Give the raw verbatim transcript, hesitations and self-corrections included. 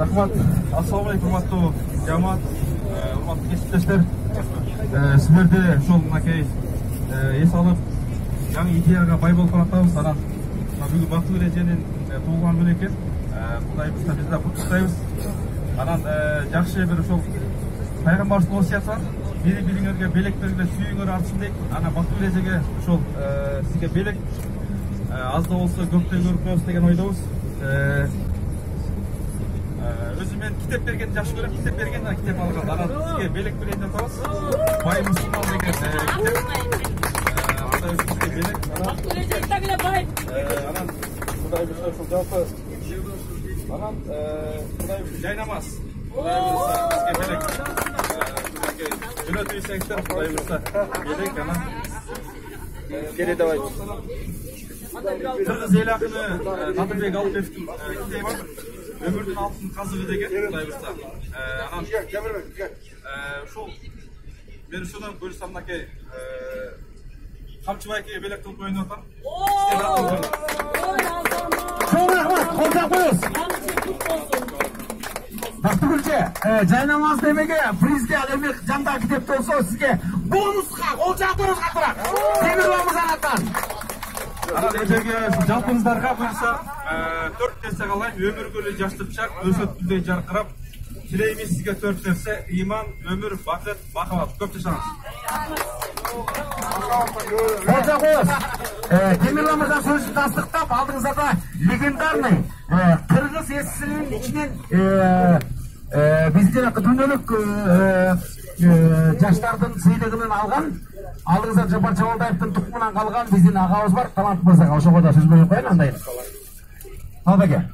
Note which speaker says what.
Speaker 1: Рахмат. Ассаламу алейкум, урматтуу жамаат, урматтуу кесиптештер. Силерде ушул мынакей эс алып, жаңы идеяга бай болуп атабыз. Анан бүгүн Бактылык эреженин туулган күнү экен. Кудайыбызга биз да куттуктайбыз. Анан жакшы бир ушул пайгамбарыбыздын осуяты бар. Бири бириңерге белек бергиле, сүйүүңөр артсын дейт. Анан Бактылык эрежеге ушул сизге белек аз да болсо көптөн көрүп коебуз деген ойдобуз. Өзүм мен китеп бергенди жакшы көрөм. Китеп бергенде китеп алган. Анан сизге белек берейин деп атабыз. Бай мусулман деген китеп. Андай сизге белек. Бактылык эреже дагы бай. Анан Кудайыбызга ушул жалпы анан Кудайыбыз жайнамаз. Кудайыбыз бизге белек. Жөнөтүп ийсеңиздер, Кудайыбызга белек. Анан келе давай. Кыргыз эл акыны Надырбек Алыбековдун китеби бар. Өмүрдүн алтын казыгы деген Кудайыбызда. Анан ушул мен ушудан бөлсөм мынакей Камчыбай акеге белек кылып коюн деп атам.
Speaker 2: Чоң рахмат, колдоп коебуз. Бактылык эже, жайнамаз демеге призге ал эми жандагы китеп болсо сизге бонуска кол жаатырыбыз катырак. Темирлан мырзанаттан.
Speaker 1: Анан эжеге жалпыңыздарга буюрса төрт нерсе калайын. Өмүргө эле жаштырчак, өсөт гүлдөй жаркырап. Тилеймиз сизге төрт нерсе: ыйман, өмүр, бакыт, махабат. Көп жашаңыз.
Speaker 2: Колдоп коебуз. Темирлан мырза сөзүн тастыктап, алдыңызда легендарный кыргыз эсинин ичинен биздин дүйнөлүк жаштардын сыйлыгын алган, алдыңызда Жапар Чабалдаевдин тукумунан калган биздин агабыз бар, талант мырзага ошого да сөз берип коеюн андай. Ал беке.